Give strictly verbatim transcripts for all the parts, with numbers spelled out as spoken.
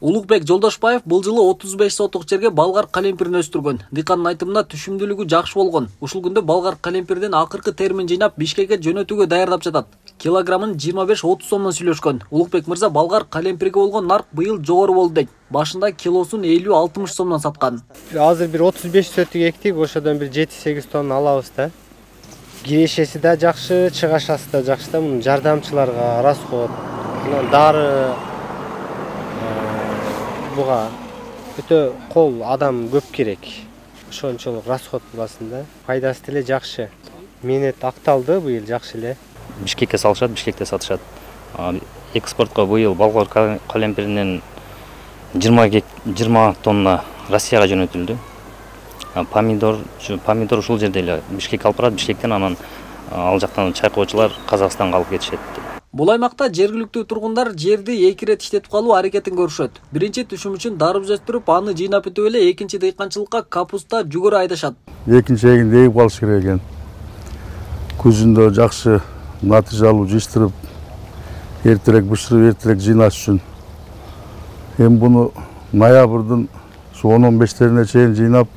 Улукбек Жолдошбаев бул жылы отуз беш сотук жерге балгар калемпирин өстүргөн. Дыйкандын айтымында түшүмдүүлүгү жакшы болгон. Ушул күндө балгар калемпирден акыркы термин жыйнап Бишкекке жөнөтүүгө даярдап жатат. Килограммын жыйырма беш отуз сомдон сүйлөшкөн. Улукбек мырза балгар калемпирге болгон нарк быйыл жогору болду дейт. Башында килосун элүү алтымыш сомдон саткан. Азыр бир отуз беш сөтүк эктик, ошодон бир жети сегиз тонна алабыз да. Кирешеси да жакшы, чыгашасы да жакшы да. Мунун жардамчыларга расход, дары буга өтө кол адам көп керек. Ошончолук расход буласын да. Пайдасы деле жакшы. Менет акталды быйыл жакшы эле. Бишкекке салышат, Бишкекте сатышат. Экспортко быйыл балгар калемпиринен жыйырма тонна Россияга жөнөтүлдү. Помидор, помидор ушул жерде эле Бишкекке алып барат, Бишкектен анан ал жактан чайкоочулар Казакстанга алып кетишет. Бул аймакта жергиликтүү тургундар жерди эки ирет иштетип калуу аракетин көрүшөт. Биринчи түшүм үчүн дарбыз өстүрүп, аны жыйнап өтүп эле экинчи дыйканчылыкка капуста, жүгөрү айдашат. Экинчи эгинди эгип калыш керек экен. Күзүндө жакшы натыйжа алып жыштырып, эртерээк бышырып, эртерээк жыйнаш үчүн. Эми буну ноябрдын он он бештерине чейин жыйнап,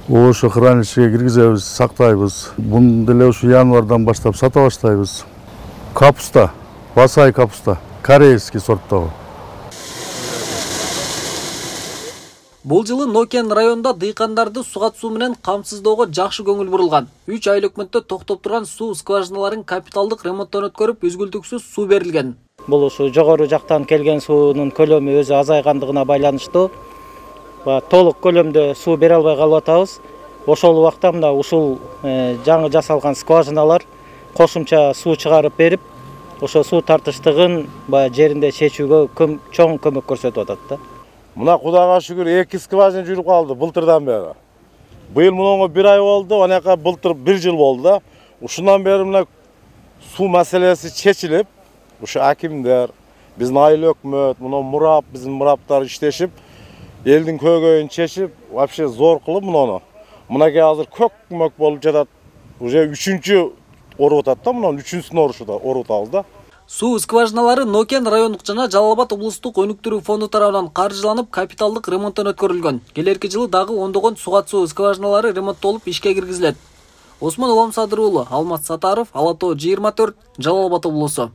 ошо хранилищеге киргизебиз, сактайбыз. Буну деле ушу январдан баштап сата баштайбыз. Капуста, басай капуста, корейский сорттогу. Бул жылы Нокен районунда дыйкандарды суга суу менен камсыздоого жакшы көңүл бурулган. үч ай өкмөттө токтоп турган суу скважиналарын капиталдык ремонттон өткөрүп, үзгүлтүксүз суу берилген. Бул ушу жогору жактан келген суунун көлөмү өзү азайгандыгына байланыштуу. Толук көлөмдө суу бере албай калып атабыз. Ошол убакта мына ушул жаңы жасалган скважиналар кошумча суу чыгарып берип, ошо суу тартыштыгын баягы жеринде чечүүгө чоң көмөк көрсөтүп атат да. Мына Кудайга шүгүр эки скважина жүрүп калды былтырдан бери. Быйыл мунуңа бир ай болду, анакка былтыр бир жыл болду да. Ушундан бери мына суу маселеси чечилип, ушу акимдер, биздин айыл өкмөт, мына мурап, биздин мураптар иштешип, элдин көйгөйүн чечип, вообще зор кылып муну. Мынакей азыр көк көмөк болуп жатат. Уже үчүнчү оруп атат да, мунун үчүнчүсүн орушуда оруп атабыз да. Суу скважиналары Нокен райондук жана Жалал Абад облустук өнүктүрүү фонду тарабынан каржыланып, капиталдык ремонттон өткөрүлгөн. Келерки жылы дагы ондогон суга суу скважиналары ремонттолуп ишке киргизилет. Осмон Улам Садыр уулу, Алмаз Сатаров, Ала Тоо жыйырма төрт, Жалал Абад облусу.